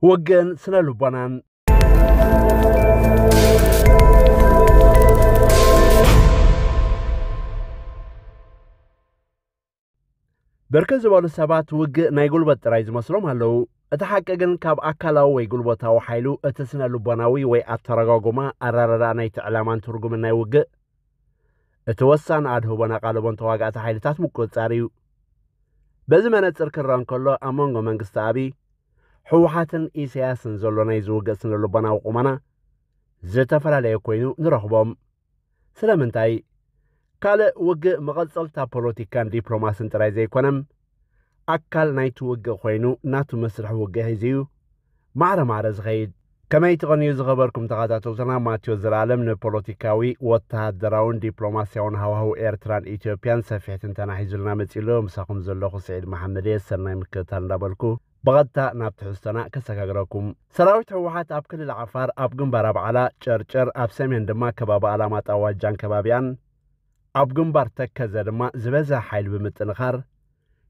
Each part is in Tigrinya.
ውግእን ስነ ልቦናን። ብርክት ዝበሉ ሰባት ውግእ ናይ ጉልበት ጥራይ ዝመስሎም ኣለዉ። እቲ ሓቂ ግን ካብ ኣካላዊ ወይ ጉልበታዊ ሓይሉ እቲ ስነ ልቦናዊ ወይ ኣተረጓጉማ ኣረዳድኣ ናይቲ ዕላማን ትርጉምን ናይ ውግእ እቲ ወሳኒ ኣድህቦን ኣቓልቦን ተዋጋእቲ ሓይልታት ምቁጽጻር እዩ። በዚ መነጽር ክረአ እንከሎ ኣብ መንጎ መንግስቲ ኣብይ፣ ህወሓትን ኢሳያስን ዘሎ ናይ ዝውግእ ስነ ልቦናዊ ቁመና ዝተፈላለየ ኮይኑ ንረኽቦም። ስለምንታይ? ካልእ ውግእ መቐጸልታ ፖለቲካን ዲፕሎማስን ጥራይ ዘይኮነም ኣካል ናይቲ ውግእ ኮይኑ ናቱ መስርሕ ውግእ ሒዙ እዩ ማዕረ ማዕረ ዝኸይድ። ከመይ ትቐንዩ ዝኸበርኩም ተኸታተልትና፣ ማቴዎስ ዘላለም ንፖለቲካዊ፣ ወተሃደራውን ዲፕሎማስያውን ሃዋህው ኤርትራን ኢትዮጵያን ሰፊሕ ትንተና ሒዙልና መጺሉ። ምሳኹም ዘለኹ ስዒድ መሓመድ እየ። ሰናይ ምክትታል እንዳበልኩ ብቐጥታ ናብ ትሕዝቶና ከሰጋግረኩም። ሰራዊት ህወሓት ኣብ ክልል ዓፋር ኣብ ግንባር ኣብዓላ፣ ጨርጨር፣ ኣብ ሰሜን ድማ ከባቢ ኣላማጣ ዋጃን ከባቢኣን፣ ኣብ ግንባር ተከዘ ድማ ዝበዝሐ ሓይሊ ብምጥንኻር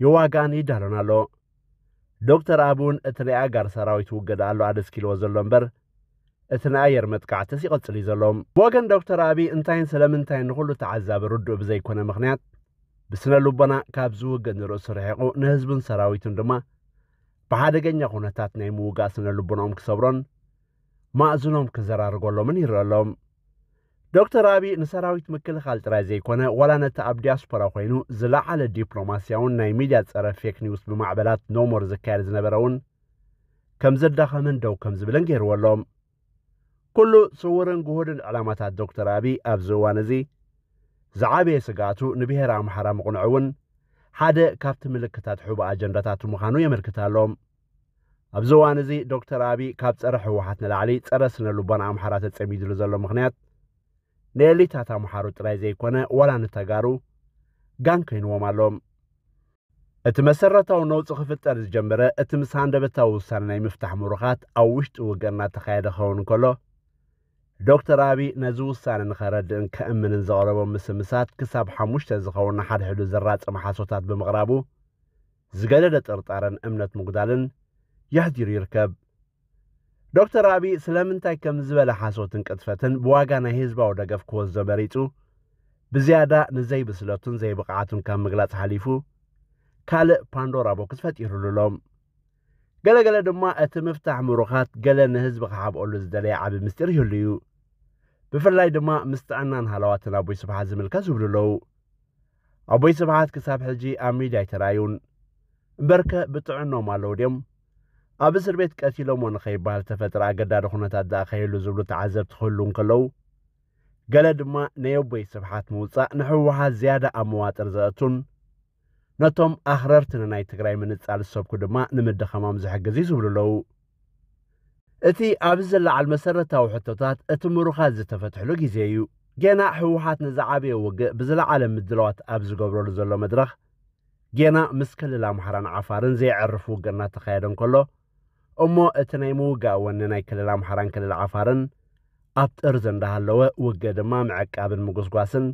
ይዋጋን ይዳሎን ኣሎ። ዶክተር ኣቢ እውን እቲ ናይ ኣጋር ሰራዊት ውግእ ኣሎ ኣደስኪልዎ ዘሎ እምበር፣ እቲ ናይ ኣየር መጥቃዕትስ ይቐጽል እዩ ዘሎ። ብወገን ዶክተር ኣቢ እንታይን ስለምንታይን ንኹሉ ተዓዛቢ ርዱእ ብዘይኮነ ምኽንያት፣ ብስነ ልቦና ካብ ዝውግእ ንርእሱ ርሒቑ፣ ንህዝቡን ሰራዊቱን ድማ ብሓደገኛ ኩነታት ናይ ምውጋእ ስነ ልቦናኦም ክሰብሮን ማእዝኖም ክዘራርገሎምን ይረአ ኣሎ። ዶክተር ኣቢ ንሰራዊት ምክልኻል ጥራይ ዘይኮነ፣ ዋላ ነቲ ኣብ ዲያስፖራ ኮይኑ ዝለዓለ ዲፕሎማስያውን ናይ ሚድያ ጸረ ፌክ ኒውስ ብማዕበላት ኖሞር ዝካየድ ዝነበረ እውን ከም ዘዳኸመን ደው ከም ዝብልን ገይርዎ ኣሎ። ኩሉ ስውርን ግሁድን ዕላማታት ዶክተር ኣቢ ኣብዚ እዋን እዚ ዝዓበየ ስግኣቱ ንብሄረ ኣምሓራ ምቕንዑ እውን ሓደ ካብቲ ምልክታት ሕቡእ ኣጀንዳታቱ ምዃኑ የመልክት ኣሎ። ኣብዚ እዋን እዚ ዶክተር ኣቢ ካብ ጸረ ህወሓት ንላዕሊ ጸረ ስነ ልቦና ኣምሓራ ተጸሚድሉ ዘሎ ምኽንያት ንኤሊታት ኣምሓሩ ጥራይ ዘይኮነ ዋላ ንተጋሩ ጋን ኮይንዎም ኣሎ። እቲ መሰረታዊ ነውጺ ክፍጠር ዝጀመረ እቲ ምስ ሃንደበታዊ ውሳነ ናይ ምፍታሕ ምሩኻት ኣብ ውሽጢ ውግእ እናተኻየደ ክኸውን እንከሎ፣ ዶክተር ኣቢ ነዚ ውሳነ ንኸረድእን ከእምንን ዘቕረቦም ምስምሳት ክሳብ ሓሙሽተ ዝኸውን ንሓድሕዱ ዘራጸመ ሓሶታት ብምቕራቡ ዝገደደ ጥርጣረን እምነት ምጉዳልን የሕዲሩ ይርከብ። ዶክተር ኣቢ ስለምንታይ ከም ዝበለ ሓሶትን ቅጥፈትን ብዋጋ ናይ ህዝባዊ ደገፍ ክወስዶ መሪጹ ብዝያዳ ንዘይብስለቱን ዘይብቕዓቱን ካብ ምግላጽ ሓሊፉ ካልእ ፓንዶራ ቦክስ ፈጢሩሉ ኣሎ። ገለገለ ድማ እቲ ምፍታሕ ምሩኻት ገለ ንህዝቢ ክሓብኦሉ ዝደለየ ዓቢ ምስጢር ይህሉ እዩ። ብፍላይ ድማ ምስ ጥዕናን ሃለዋትን ኣቦይ ስብሓት ዝምልከት ዝብሉ ኣለዉ። ኣቦይ ስብሓት ክሳብ ሕጂ ኣብ ሚድያ ኣይተራእዩን። እምበርከ ብጥዕኖም ኣለዉ ድዮም? ኣብ እስር ቤት ቀቲሎሞ ንኸይበሃል ተፈጥረ ኣገዳዲ ኩነታት ደኣ ከይህሉ ዝብሉ ተዓዘብቲ ክህሉ እንከለዉ፣ ገለ ድማ ናይ ኣቦይ ስብሓት ምውጻእ ንህወሓት ዝያዳ ኣብ መዋጥር ዘእቱን ነቶም ኣኽረርቲ ንናይ ትግራይ ምንጻል ዝሰብኩ ድማ ንምድኻሞም ዝሕግዝ እዩ ዝብሉ ኣለዉ። እቲ ኣብዚ ዝለዓል መሰረታዊ ሕቶታት እቲ ምሩኻት ዝተፈትሕሉ ግዜ እዩ። ጌና ህወሓት ንዝዓበየ ውግእ ብዝለዓለ ምድላዋት ኣብ ዝገብረሉ ዘሎ መድረኽ፣ ጌና ምስ ክልል ኣምሓራን ዓፋርን ዘየዕርፍ ውግእ እናተኻየደ እንከሎ፣ እሞ እቲ ናይ ምውጋእ ወኒ ናይ ክልል ኣምሓራን ክልል ዓፋርን ኣብ ጥርዚ እንዳሃለወ፣ ውግእ ድማ ምዕቃብን ምጉስጓስን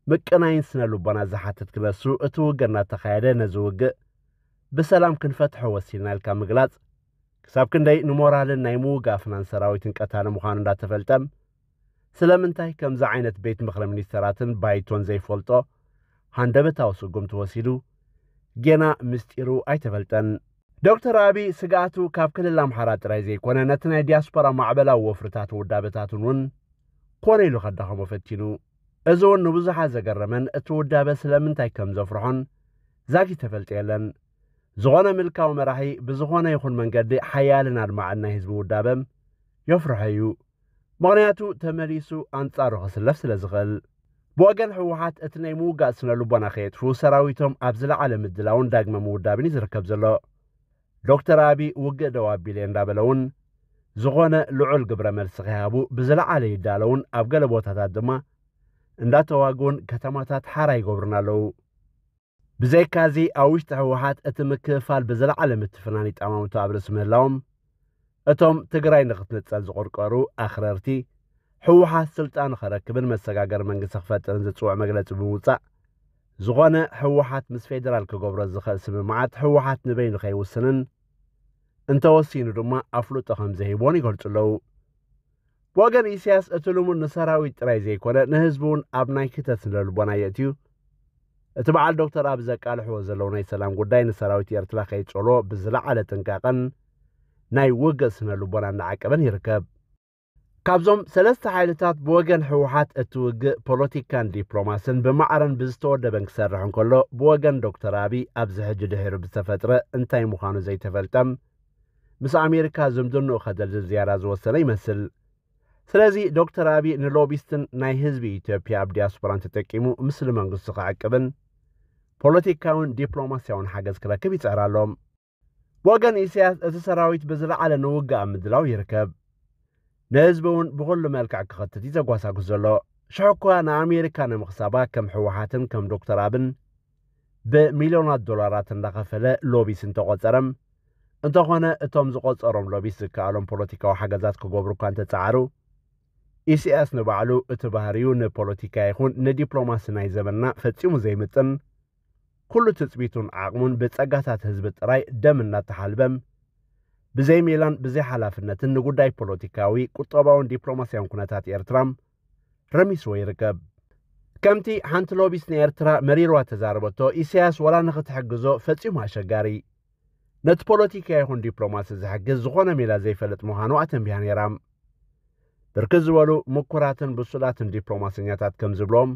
ምቅናይን ስነ ልቦና ዝሓትት ክነሱ፣ እቲ ውግእ እናተኻየደ ነዚ ውግእ ብሰላም ክንፈትሖ ወሲንና ኢልካ ምግላጽ፣ ክሳብ ክንደይ ንሞራልን ናይ ምውጋእ ፍናን ሰራዊትን ቀታሊ ምዃኑ እንዳተፈልጠም፣ ስለምንታይ ከምዚ ዓይነት ቤት ምኽሪ ሚኒስተራትን ባይቶን ዘይፈልጦ ሃንደበታዊ ስጉምቲ ወሲዱ፣ ጌና ምስጢሩ ኣይተፈልጠን። ዶክተር ኣቢ ስግኣቱ ካብ ክልል ኣምሓራ ጥራይ ዘይኮነ፣ ነቲ ናይ ዲያስፖራ ማዕበላዊ ወፍርታትን ውዳበታቱን እውን ኮነ ኢሉ ከዳኸሞ ፈቲኑ። እዚ እውን ንብዙሓት ዘገረመን እቲ ውዳበ ስለምንታይ ከም ዘፍርሖን ዛጊት ተፈልጠ የለን። ዝኾነ ምልካዊ መራሒ ብዝኾነ ይኹን መንገዲ ሓያልን ኣድማዕን ናይ ህዝቢ ውዳበም የፍርሖ እዩ። ምኽንያቱ ተመሊሱ ኣንጻሩ ክስለፍ ስለ ዝኽእል። ብወገን ህወሓት እቲ ናይ ምውጋእ ስነ ልቦና ከየጥፍኡ ሰራዊቶም ኣብ ዝለዓለ ምድላውን ዳግመ ምውዳብን እዩ ዝርከብ ዘሎ። ዶክተር ኣቢ ውግእ ደው ኣቢለ እንዳበለ እውን ዝኾነ ልዑል ግብረ መልሲ ከይሃቡ ብዝለዓለ ይዳለውን ኣብ ገለ ቦታታት ድማ እንዳተዋግኡን ከተማታት ሓራ ይገብሩን ኣለዉ። ብዘይካዚ ኣብ ውሽጢ ህወሓት እቲ ምክፍፋል ብዝለዓለ ምትፍናን ይጠማምቱ ኣብ ርእሲ ምህላዎም፣ እቶም ትግራይ ንኽትንጸል ዝቆርቆሩ ኣኽረርቲ፣ ህወሓት ስልጣን ንኸረክብን መሰጋገሪ መንግስቲ ክፈጥርን ዝጽውዕ መግለጺ ብምውጻእ፣ ዝኾነ ህወሓት ምስ ፌደራል ክገብሮ ዝኽእል ስምምዓት ህወሓት ንበይኑ ከይውስንን፣ እንተወሲኑ ድማ ኣፍልጦ ከም ዘይህቦን ይገልጹ ኣለዉ። ብወገን ኢሳያስ እቲ ልሙድ ንሰራዊት ጥራይ ዘይኮነ ንህዝቢ እውን ኣብ ናይ ክተት ስነልቦና የእትዩ። እቲ በዓል ዶክተር ኣብ ዘቃልሕዎ ዘለዉ ናይ ሰላም ጉዳይ ንሰራዊት ኤርትራ ከይጸልዎ ብዝለዓለ ጥንቃቐን ናይ ውግእ ስነልቦና እናዓቀበን ይርከብ። ካብዞም ሰለስተ ሓይልታት ብወገን ህወሓት እቲ ውግእ ፖለቲካን ዲፕሎማስን ብማዕረን ብዝተወደበን ክሰርሕ እንከሎ ብወገን ዶክተር ኣቢ ኣብዚ ሕጂ ድሒሩ ብዝተፈጥረ እንታይ ምዃኑ ዘይተፈልጠም ምስ ኣሜሪካ ዝምድንኡ ከደልድል ዝያዳ ዝወሰነ ይመስል። ስለዚ ዶክተር ኣቢ ንሎቢስትን ናይ ህዝቢ ኢትዮጵያ ኣብ ዲያስፖራን ተጠቂሙ ምስሊ መንግስቱ ክዕቅብን ፖለቲካውን ዲፕሎማስያውን ሓገዝ ክረክብ ይጽዕር ኣሎ። ብወገን ኢሳያስ እቲ ሰራዊት ብዝለዓለ ንውግእ ኣብ ምድላው ይርከብ። ንህዝቢ እውን ብኹሉ መልክዕ ክኸትት እዩ ዘጓሳጉስ ዘሎ። ሽሕ እኳ ንኣሜሪካ ንምኽሳባ ከም ህወሓትን ከም ዶክተር ኣብን ብሚልዮናት ዶላራት እንዳኸፈለ ሎቢስ እንተቖጸረም፣ እንተኾነ እቶም ዝቖጸሮም ሎቢስ ዝከኣሎም ፖለቲካዊ ሓገዛት ክገብሩ እኳ እንተጸዓሩ፣ ኢሳያስ ንባዕሉ እቲ ባህሪኡ ንፖለቲካ ይኹን ንዲፕሎማሲ ናይ ዘመንና ፈጺሙ ዘይምጥን፣ ኩሉ ትጽቢቱን ዓቕሙን ብጸጋታት ህዝቢ ጥራይ ደም እናተሓልበም፣ ብዘይ ሜላን ብዘይ ሓላፍነትን ንጉዳይ ፖለቲካዊ፣ ቁጠባውን ዲፕሎማስያውን ኩነታት ኤርትራ ረሚስዎ ይርከብ። ከምቲ ሓንቲ ሎቢስት ንኤርትራ መሪርዋ ተዛረበቶ፣ ኢሳያስ ወላ ንኽትሕግዞ ፈጺሙ ኣሸጋሪ፣ ነቲ ፖለቲካ ይኹን ዲፕሎማሲ ዝሕግዝ ዝኾነ ሜላ ዘይፈልጥ ምዃኑ ኣተንቢሃ ነይራ። ብርክት ዝበሉ ምኩራትን ብሱላትን ዲፕሎማሰኛታት ከም ዝብሎም፣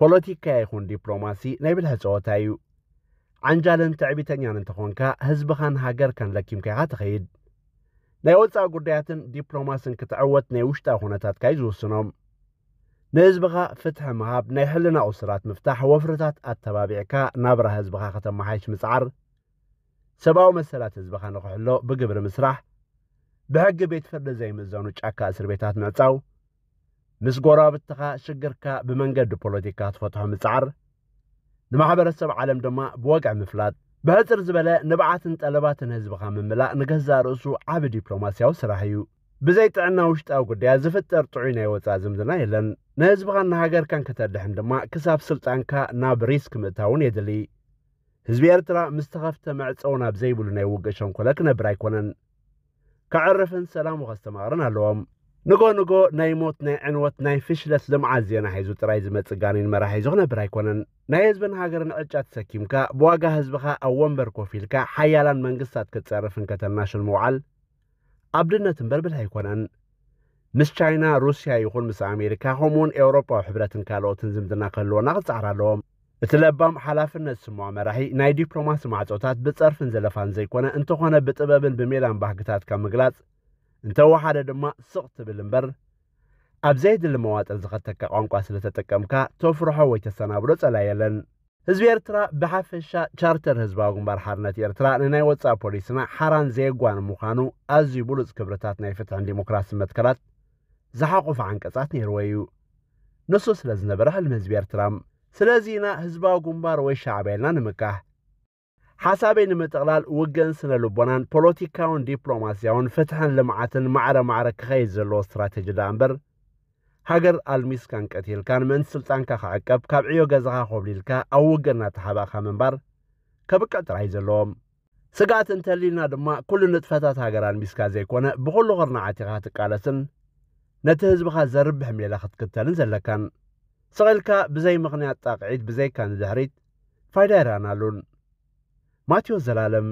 ፖለቲካ ይኹን ዲፕሎማሲ ናይ ብልሒ ጸወታ እዩ። ዓንጃልን ትዕቢተኛን እንተኾንካ፣ ህዝብኻን ሃገርካን ለኪምካ ኢኻ ትኸይድ። ናይ ወጻኢ ጉዳያትን ዲፕሎማስን ክትዕወት ናይ ውሽጣዊ ኩነታትካ እዩ ዝውስኖም። ንህዝብኻ ፍትሒ ምሃብ፣ ናይ ሕልና እሱራት ምፍታሕ፣ ወፍርታት ኣተባቢዕካ ናብራ ህዝብኻ ከተመሓይሽ ምጽዓር፣ ሰብኣዊ መሰላት ህዝብኻ ንኽሕሎ ብግብሪ ምስራሕ፣ ብሕጊ ቤት ፍርዲ ዘይምእዘኑ ጫካ እስር ቤታት ምዕጻው፣ ምስ ጎረባብትኻ ሽግርካ ብመንገዲ ፖለቲካ ክትፈትሖ ምጽዓር፣ ንማሕበረሰብ ዓለም ድማ ብወግዒ ምፍላጥ። ብሕጽር ዝበለ ንብዓትን ጠለባትን ህዝብኻ ምምላእ ንገዛእ ርእሱ ዓቢ ዲፕሎማስያዊ ስራሕ እዩ። ብዘይ ጥዕና ውሽጣዊ ጉዳያት ዝፍጠር ጥዑይ ናይ ወጻኢ ዝምድና የለን። ንህዝብኻን ንሃገርካን ከተድሕን ድማ ክሳብ ስልጣንካ ናብ ሪስክ ምእታውን የድሊ። ህዝቢ ኤርትራ ምስ ተኸፍተ መዕጸዊ ናብ ዘይብሉ ናይ ውግእ ሸንኮለል ክነብር ኣይኮነን። ከዕርፍን ሰላሙ ከስተማቕርን ኣለዎም። ንጎ ንጎ ናይ ሞት፣ ናይ ዕንወት፣ ናይ ፍሽለት ልምዓት ዜና ሒዙ ጥራይ ዝመጽእ ጋኔን መራሒ ሒዙ ክነብር ኣይኮነን። ናይ ህዝብን ሃገርን ዕጫ ተሰኪምካ፣ ብዋጋ ህዝብኻ ኣብ ወንበር ኮፍ ኢልካ፣ ሓያላን መንግስታት ክትጸርፍን ከተናሽል ምውዓል ኣብድነት እምበር ብልሒ ኣይኮነን። ምስ ቻይና፣ ሩስያ ይኹን ምስ ኣሜሪካ፣ ከምኡውን ኤውሮጳዊ ሕብረትን ካልኦትን ዝምድና ክህልወና ክጸዓር ኣለዎም። እቲ ለባም ሓላፍነት ዝስምዖ መራሒ ናይ ዲፕሎማሲ ማዕጾታት ብጸርፍን ዘለፋን ዘይኮነ፣ እንተኾነ ብጥበብን ብሜላን ባህግታትካ ምግላጽ፣ እንተወሓደ ድማ ስቕ ትብል እምበር፣ ኣብ ዘየድሊ መዋጥር ዝኸተካ ቋንቋ ስለ ተጠቀምካ፣ ተፍርሖ ወይ ተሰናብዶ ጸላይ የለን። ህዝቢ ኤርትራ ብሓፈሻ፣ ቻርተር ህዝባዊ ግንባር ሓርነት ኤርትራ ንናይ ወጻኢ ፖሊስና ሓራን ዘየጓኒ ምዃኑ፣ ኣዝዩ ብሉጽ ክብርታት ናይ ፍትሕን ዲሞክራስን መትከላት ዝሓቖፈ ዓንቀጻት ነይርዎ እዩ። ንሱ ስለ ዝነበረ ሕልሚ ህዝቢ ኤርትራ። ስለዚ ኢና ህዝባዊ ግንባር ወይ ሻዕብያ ኢልና ንምካሕ። ሓሳበይ ንምጥቕላል፣ ውግእን ስነ ልቦናን ፖለቲካውን ዲፕሎማስያውን ፍትሕን ልምዓትን ማዕረ ማዕረ ክኸይድ ዘለዎ ስትራተጂ ደኣ እምበር፣ ሃገር ኣልሚስካን ቀቲልካን ምእንቲ ስልጣንካ ክዕቀብ ካብ ዕዮ ገዛኻ ኮብሊልካ ኣብ ውግእ እናተሓባእካ ምንባር ከብቅዕ ጥራይ እዩ ዘለዎም። ስግኣት እንተልዩልና ድማ፣ ኩሉ ንጥፈታት ሃገር ኣልሚስካ ዘይኮነ፣ ብኹሉ ኩርናዓት ኢኻ ትቃለስን ነቲ ህዝብኻ ዘርብሕ ሜላ ክትክተልን ዘለካን። ስቕ ኢልካ ብዘይ ምኽንያት ጣቕዒት ብዘይካ ንድሕሪት ፋይዳ ኣይረኣናሉን። ማቴዎስ ዘላለም።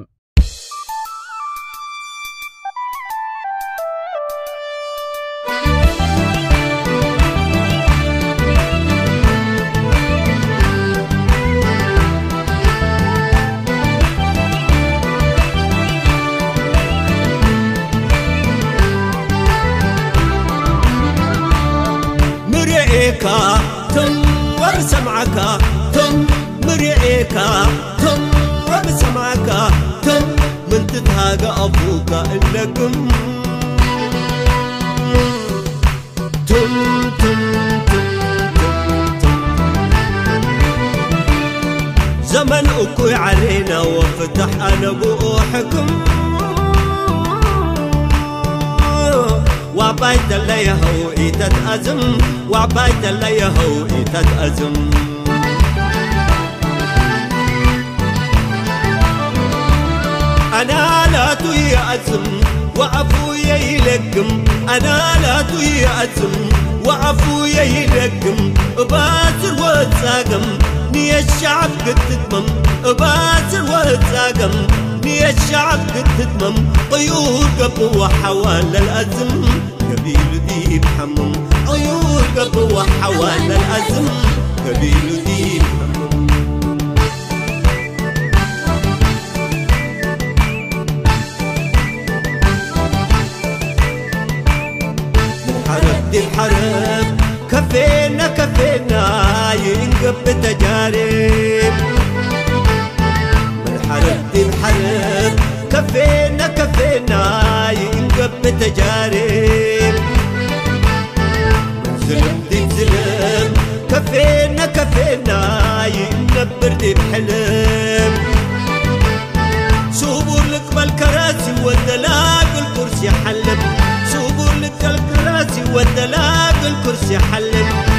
ምርኤካ ትም ወብሰምዓካ ትም ምርኤካ ትም ወብሰምዓካ ትም ምንቲ ትሃገ ኣፉካ እለግም ትም ትም ትም ትም ትም ዘመን እኩይ ዓሌና ወፍታሕ ኣነ ብኡ ሕክም ዋባይ ተለየኸው ኢተትኣዝም ዋባይ ተለየኸው ኢተትኣዝም ኣናለ ላቱ ይኣዝም ወኣፉ የይለግም ኣናላቱ ይኣዝም ወኣፉ የይለግም እባስር ወጻገም ንየሻብ ክትትመም እባስር ወጻገም ንየሻብ ክትትመም ቅዩር ገብዋ ሓዋለል ኣዝም ገቢሉ ዲብ ሓሙም ቅዩር ገብዋ ሓዋለል ኣዝም ገቢሉ ዲብ ሓሙም ሓረብ ዲብ ሓረብ ከፌና ከፌና ይእንገብ ተጃሬብ ምን ሓረብ ዲብ ሓረብ ከፌና ከፌና ይእንገብ ተጃሬብ ምን ዝልም ዲብ ዝልም ከፌና ከፌና ይእንገብር ዲብ ሕልም ስቡር ልቅበል ከራሲ ወደላግል ኩርሲ ሓልም ስቡር ልቀል ከራሲ ወደላግል ኩርሲ ሓልም